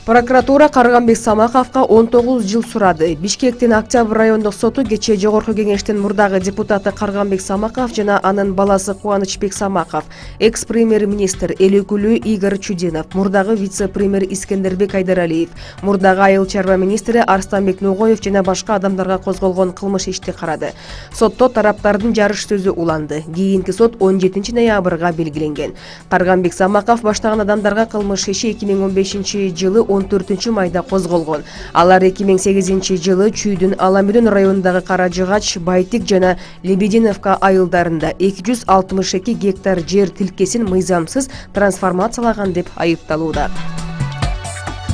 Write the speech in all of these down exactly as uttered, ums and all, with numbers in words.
Прокуратура Карганбек Самаковго он тогуз жыл сурады. Бишкектин Октябрь райондук соту кечээ жогорку кеңештин мурдагы депутаты Карганбек Самаков жана анын баласы Кубанычбек Самаков, экс-премьер-министр эл өкүлү Игорь Чудинов, мурдагы вице-премьер Искендербек Айдаралиев, мурдагы айыл чарба министри Арстанбек Нугоев жана башка адамдарга козголгон кылмыш ишти карады. Сотто тараптардын жарыш сөзү уланды. Кийинки сот он жетинчи ноябрга белгиленген. Карганбек Самаков баштаган адамдарга кылмыш иши эки миң он бешинчи жылы он төртүнчү майда козголгон. Алар эки миң сегизинчи жылы Чүйдүн Аламүдүн районундагы Каражыгач, Байтик жана Лебединовка айылдарында эки жүз алтымыш эки гектар жер тилкесин мыйзамсыз трансформациялаган деп айыпталууда.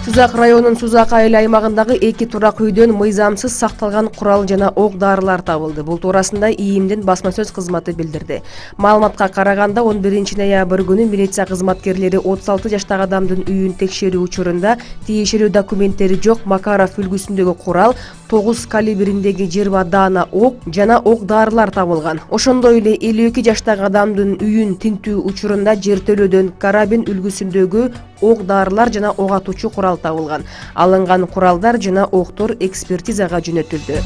Сузак районунун Сузак айыл аймагындагы эки турак үйдөн мыйзамсыз сакталган курал жана ок-дарылар табылды. Бул туурасында ИИМдин басма сөз кызматы билдирди. Маалыматка караганда он биринчи ноябрь күнү милиция кызматкерлери отуз алты жаштагы адамдын үйүн текшерүү учурунда тиешелүү документтери жок Макаров үлгүсүндөгү курал, тогуз калибриндеги жыйырма даана ок жана ок-дарылар табылган. Ошондой эле элүү эки жаштагы адамдын үйүн тинтүү учурунда жертөлөөдөн карабин үлгүсүндөгү ок-дарылар жана ок атуучу курал табылган. Алынган куралдар жана октор экспертизага жөнөтүлдү.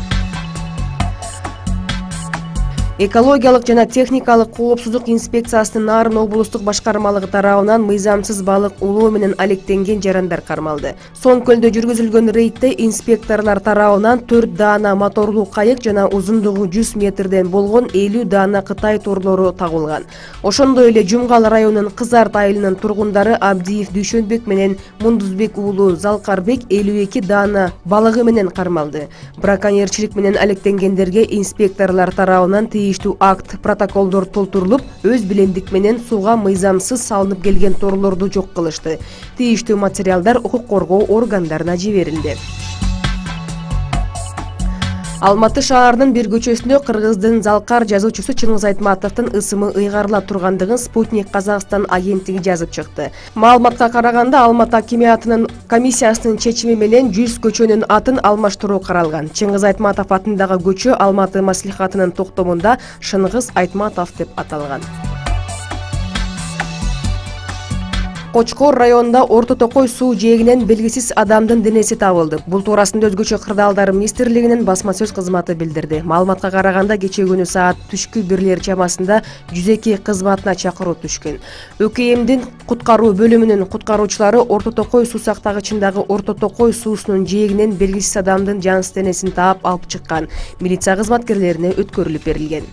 Экологиялык жана техникалык коопсуздук инспекциясынын Нарын облустук башкармалыгы тарабынан мыйзамсыз балык улоо менен алектенген жарандар кармалды. Соң көлдө жүргүзүлгөн рейдте инспекторлор тарабынан төрт даана моторлуу кайык жана узундугу жүз метрден болгон элүү даана Кытай торлору табылган. Ошондой эле Жумгал районунун Кызарт айылынын тургундары Абдиев Дүйшөнбек менен Мундузбек уулу Залкарбек элүү эки даана балыгы менен кармалды. Браконьерчилик менен алектенгендерге инспекторлор тарабынан тийиштүү акт, протоколдор толтурулуп, өз билемдик менен сууга мыйзамсыз салынып келген торлорду жок кылышты. Тийиштүү материалдар укук коргоо органдарына жиберилди. Алматы шаарынын бир көчөсүндө кыргыздын Залкар жазуучусу Чыңгыз Айтматовдун ысымы ыйгарыла тургандыгын Спутник Казакстан агенттиги жазып чыкты. Маалыматка караганда Алматы акимиятынын комиссиясынын чечими менен жүз көчөнүн атын алмаштыруу каралган. Чыңгыз Айтматов атындагы көчө Алматы маслихатынын токтомунда Шыңгыз Айтматов деп аталган. Кочкор районунда Орто Токой суу жээгинен белгисиз адамдын денеси табылды. Бул туурасында Өзгөчө кырдаалдар министрлигинин басма сөз кызматы билдирди. Маалыматка караганда кечээ күнү саат түшкү бирлер чамасында жүз эки кызматына чакыруу түшкөн. ӨКМдин куткаруу бөлүмүнүн куткаруучулары Орто Токой суу сактагычындагы Орто Токой суусунун жээгинен белгисиз адамдын жансыз денесин таап алып чыккан. Милиция кызматкерлерине өткөрүлүп берилген.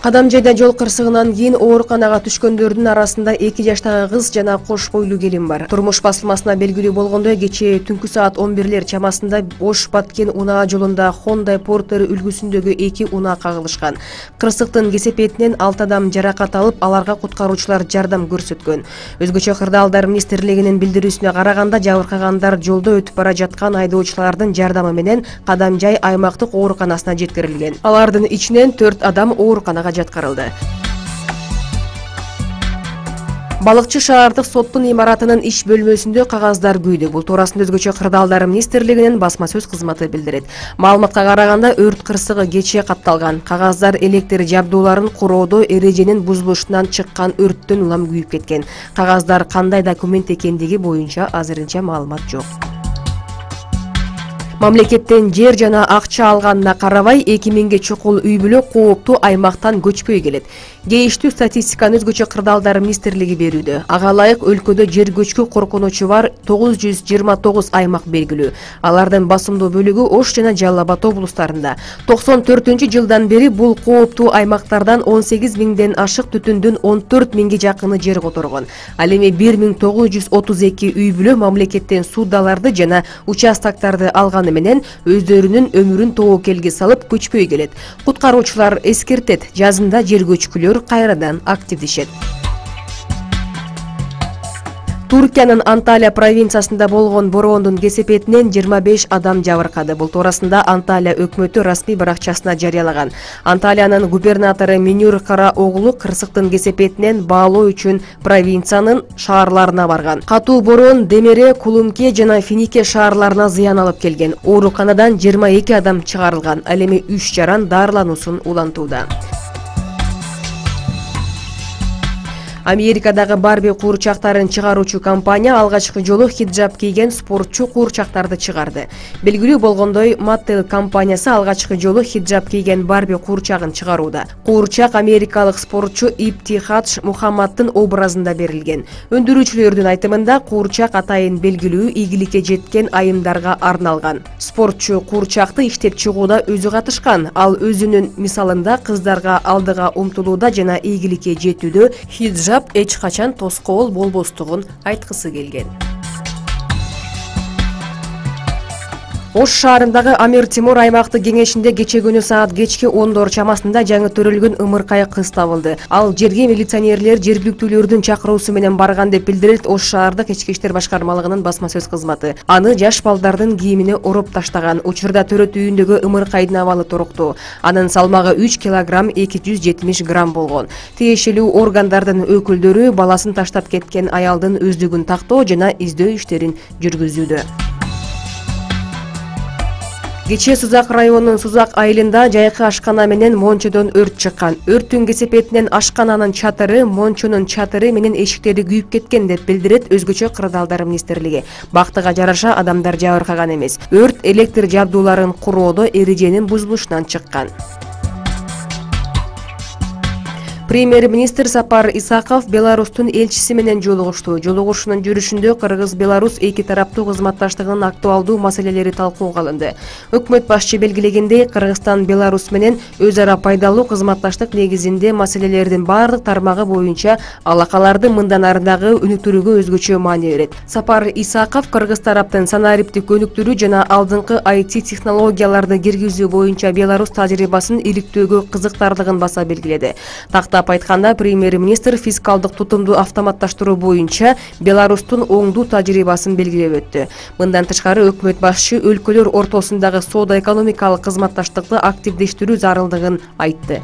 Кадамжайда жол кырсыгынан кийин ооруканага түшкөндөрдүн арасында эки жаштагы кыз жана кош бойлуу келин бар. Турмуш басылмасына белгилүү болгондой, кечээ түнкү саат он бирлер чамасында Ош-Баткен унаа жолунда Honda Porter үлгүсүндөгү эки унаа кагылышкан. Кырсыктын кесепетинен алты адам жаракат алып, аларга куткаруучулар жардам көрсөткөн. Өзгөчө кырдаалдар министрлигинин билдирүүсүнө караганда, жабыркагандар жолдо өтүп бара жаткан айдоочулардын жардамы менен Кадамжай аймактык ооруканасына жеткирилген. Алардын ичинен төрт адам ооруканага жаткырылды. Балыкчы шаардык соттун имаратынын иш бөлмөсүндө кагаздар күйдү. Бул туурасында Өзгөчө кырдаалдар министрлигинин басма сөз кызматы билдирет. Маалыматка караганда өрт кырсыгы кечээ катталган. Кагаздар электр жабдууларын куроодо эреженин бузулушунан чыккан өрттөн улам күйүп кеткен. Кагаздар кандай документ экендиги боюнча азырынча маалымат жок. Мамлекеттен жер жана акча алганына карабай эки миңге чукул үй бүлө кооптуу аймактан көчпөй келет. Кейиштүү статистиканы Өзгөчө кырдаалдар министрлиги берүүдө. Ага ылайык өлкөдө жер көчкү коркунучу бар тогуз жүз жыйырма тогуз аймак белгилүү. Алардын басымдуу бөлүгү Ош жана Жалал Абад облустарында. токсон төртүнчү жылдан бери бул кооптуу аймактардан он сегиз миңден ашык түтүндүн он төрт миңге жакыны жер которгон. Ал эми бир миң тогуз жүз отуз эки үй бүлө мамлекеттен суудаларды жана участоктарды алганы менен өздөрүнүн өмүрүн тобокелге салып көчпөй келет. Куткаруучулар эскертет, жазында жер көчкүлөр кайрадан активдешет. Туркиянын Анталия провинциясында болгон бороондун кесепетинен жыйырма беш адам жабыркады. Бул туурасында Анталия өкмөтү расмий баракчасына жарыялаган. Анталиянын губернатору Минюр Караоглу кырсыктын кесепетинен баалоо үчүн провинциянын шаарларына барган. Катуу бороон Демере, Кулумке жана Финике шаарларына зыян алып келген. Ооруканадан жыйырма эки адам чыгарылган. Ал эми үч жаран дарылануусун улантууда. Америкадагы Барби куурчактарын чыгаруучу компания алгачкы жолу хиджаб кийген спортчу куурчактарды чыгарды. Белгилүү болгондой, Mattel компаниясы алгачкы жолу хиджаб кийген Барби куурчагын чыгарууда. Куурчак америкалык спортчу Иптихадж Мухаммаддын образында берилген. Өндүрүүчүлөрдүн айтымында куурчак атайын белгилүү ийгиликке жеткен айымдарга арналган. Спортчу куурчакты иштеп чыгууда өзү катышкан. Ал өзүнүн мисалында кыздарга алдыга умтулууда жана ийгиликке жетүүдө хиджаб эч качан тоскоол болбостугун айткысы келген. Ош шаарындагы Амир Темур аймактык кеңешинде кече күнү саат кечки ондор чамасында жаңы төрөлгөн ымыркай кыз табылды. Ал жерге милиционерлер жергиликтүүлөрдүн чакыруусу менен барган деп билдирет Ош шаардык ички иштер башкармалыгынын басма сөз кызматы. Аны жаш балдардын кийимине ороп таштаган. Учурда төрөт үйүндөгү ымыркайдын абалы туруктуу. Анын салмагы үч килограмм эки жүз жетимиш грамм болгон. Тиешелүү органдардын өкүлдөрү баласын таштап кеткен аялдын өздүгүн тактоо жана издөө иштерин жүргүзүүдө. Кечээ Сузак районунун Сузак айылында жайкы ашкана менен мончодон өрт чыккан. Өрттүн кесепетинен ашкананын чатыры, мончонун чатыры менен эшиктери күйүп кеткен деп билдирет Өзгөчө кырдаалдар министрлиги. Бактыга жараша адамдар жабыркаган эмес. Өрт электр жабдууларын куроодо эреженин бузулушунан чыккан. Премьер-министр Сапар Исаков Беларустун элчиси менен жолугушту. Жолугушуунун жүрүшүндө Кыргыз-Беларус эки тараптуу кызматташтыгынын актуалдуу маселелери талкууга алынды. Өкмөт башчы белгилегендей, Кыргызстан Беларусь менен өз ара пайдалуу кызматташтык негизинде маселелердин бардык тармагы боюнча алакаларды мындан арыдагы өнүктүрүүгө өзгөчө маани берет. Сапар Исаков Кыргыз тараптын санариптик өнүктүрүү жана алдыңкы ай ти технологияларды киргизүү боюнча Беларусь тажрыйбасын иликтөөгө кызыктардыгын баса белгиледи. Тактап айтканда, премьер-министр фискалдык тутумду автоматташтыруу боюнча Беларустун оңдуу тажрыйбасын белгилеп өттү. Мындан тышкары өкмөт башчы өлкөлөр ортосундагы соода-экономикалык кызматташтыкты активдештирүү зарылдыгын айтты.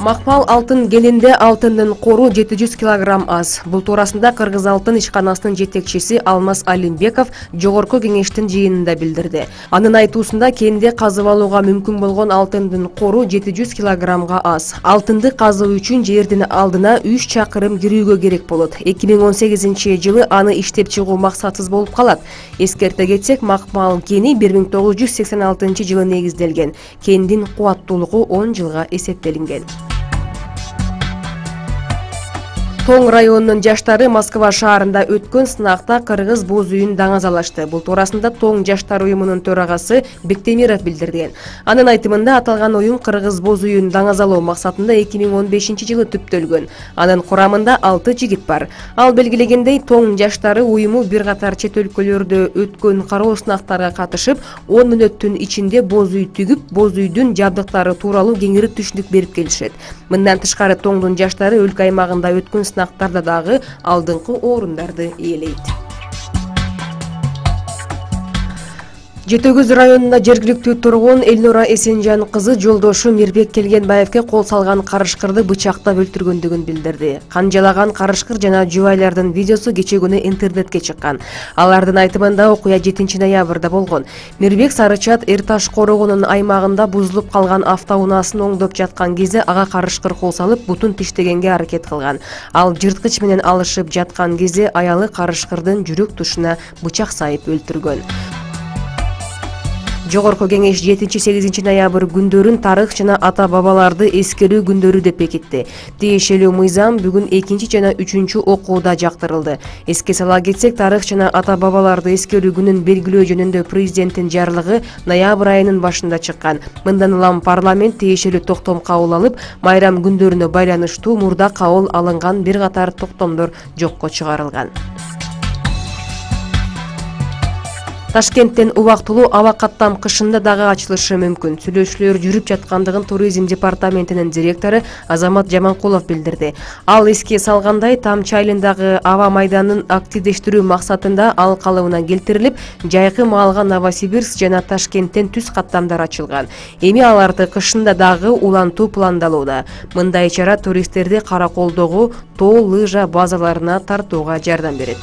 Макмал алтын келинде алтындын кору жети жүз килограмм аз. Бул туурасында Кыргыз алтын ишканасынын жетекчиси Алмаз Алимбеков жогорку кеңештин жыйынында билдирди. Анын айтуусунда кенде казып алууга мүмкүн болгон алтындын кору жети жүз килограммга аз. Алтынды казуу үчүн жердин алдына үч чакырым кирүүгө керек болот. эки миң он сегизинчи жылы аны иштеп чыгуу максатсыз болуп калат. Эскерте кетсек, Макмал кени бир миң тогуз жүз сексен алтынчы жылы негизделген. Кендин кубаттуулугу он жылга эсептелинген. Тоң районунун жаштары Москва шаарында өткөн сынакта кыргыз боз үйүн даңазалашты. Бул туурасында Тоң жаштар уюмунун төрагасы Бектемиров билдирген. Анын айтымында аталган уюм кыргыз боз үйүн даңазалоо максатында эки миң он бешинчи жылы түптөлгөн. Анын курамында алты жигит бар. Ал белгилегендей, Тоң жаштары уюму бир катар чет өлкөлөрдө өткөн кароо сынактарга катышып, он мүнөттүн ичинде боз үй түгүп, боз үйдүн жабдыктары тууралуу кеңири түшүнүк берип келишет. Мындан тышкары Тоңдун жаштары өлкө аймагында өткөн сынактарда дагы алдыңкы орундарды ээлейт. Жети Көз районунда жергиликтүү тургун Элнура Эсенжан кызы жолдошу Мирбек Келгенбаевке кол салган карышкырды бычактап өлтүргөндүгүн билдирди. Канжалаган карышкыр жана жубайлардын видеосу кече күнү интернетке чыккан. Алардын айтымында окуя жетинчи ноябрда болгон. Мирбек Сарычат Эр Таш корогунун аймагында бузулуп калган автоунаасын оңдоп жаткан кезде ага карышкыр кол салып, бутун тиштегенге аракет кылган. Ал жырткыч менен алышып жаткан кезде аялы карышкырдын жүрөк тушуна бычак сайып өлтүргөн. Жогорку кеңеш жетинчи сегизинчи ноябрь күндөрүн тарых жана ата-бабаларды эскерүү күндөрү деп бекитти. Тиешелүү мыйзам бүгүн экинчи жана үчүнчү окууда жактырылды. Эске сала кетсек, тарых жана ата-бабаларды эскерүү күнүн белгилөө жөнүндө президенттин жарлыгы ноябрь айынын башында чыккан. Мындан улам парламент тиешелүү токтом кабыл алып, майрам күндөрүнө байланыштуу мурда кабыл алынган бир катар токтомдор жокко чыгарылган. Ташкенттен убактылуу аба каттам кышында дагы ачылышы мүмкүн. Сүйлөшүүлөр жүрүп жаткандыгын туризм департаментинин директору Азамат Жаманкулов билдирди. Ал эске салгандай, Тамчы айылындагы аба майданын активдештирүү максатында ал калыбына келтирилип, жайкы маалга Новосибирск жана Ташкенттен түз каттамдар ачылган. Эми аларды кышында дагы улантуу пландалууда. Мындай чара туристтерди Караколдогу тоо лыжа базаларына тартууга жардам берет.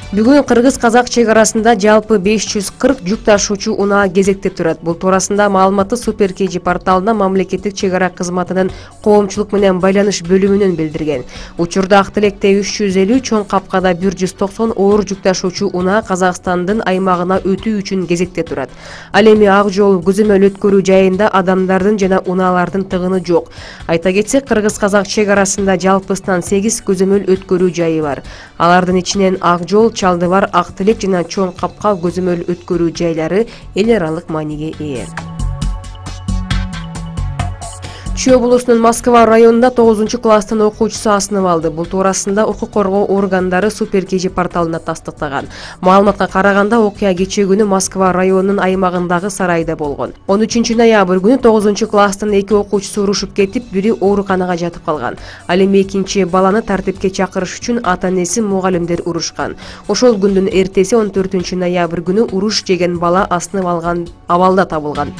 Бүгүн кыргыз-казак чек арасында жалпы беш жүз кырк жүк ташуучу унаа кезекте турат. Бул туурасында маалыматты Супер кей джи порталына мамлекеттик чек ара кызматынын коомчулук менен байланыш бөлүмүнөн билдирген. Учурда Ак Тилекте үч жүз элүү, Чоң Капкада бир жүз токсон оор жүк ташуучу унаа Казакстандын аймагына өтүү үчүн кезекте турат. Ал эми Ак Жол көзөмөл өткөрүү жайында адамдардын жана унаалардын тыгыны жок. Айта кетсек, кыргыз-казак чек арасында жалпысынан сегиз көзөмөл өткөрүү жайы бар. Алардын ичинен Ак Жол, Чалдыбар, Ак Тилек жана Чоң Капка көзөмөл өткөрүү жайлары эл аралык мааниге ээ. Чүй облусунун Москва районунда тогузунчу класстын окуучусу асынып алды. Бул туурасында укук коргоо органдары Супер кей джи порталына тастыктаган. Маалыматка караганда, окуя кечээ күнү Москва районунун аймагындагы сарайда болгон. он үчүнчү ноябрь күнү тогузунчу класстын эки окуучусу урушуп кетип, бири ооруканага жатып калган. Ал эми экинчи баланы тартипке чакырыш үчүн ата-энеси, мугалимдер урушкан. Ошол күндүн эртеси он төртүнчү ноябрь күнү уруш жеген бала асынып алган абалда табылган.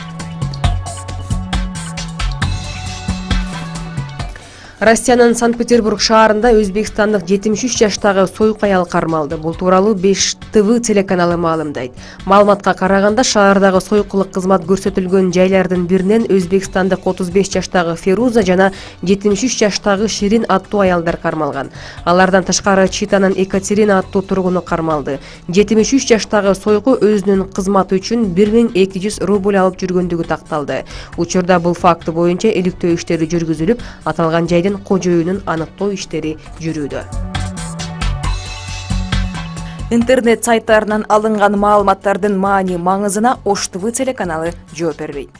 Россиянын Санкт-Петербург шаарында өзбекстандык жетимиш үч жаштагы союк аял кармалды. Бул тууралуу беш тэ вэ телеканалы маалымдайт. Маалыматка караганда, шаардагы союкчулук кызмат көрсөтүлгөн жайлардын биринен өзбекстандык отуз беш жаштагы Феруза жана жетимиш үч жаштагы Ширин аттуу аялдар кармалган. Алардан тышкары Читанын Екатерина аттуу тургуну кармалды. жетимиш үч жаштагы сойку өзүнүн кызматы үчүн бир миң эки жүз рубль алып жүргөндүгү такталды. Учурда бул факты боюнча иликтөө иштери жүргүзүлүп, аталган жайдын кожоюнун аныктоо иштери жүрүүдө. Интернет сайттарынан алынган маалыматтардын маани маңызына Ош тэ вэ телеканалы жооп бербейт.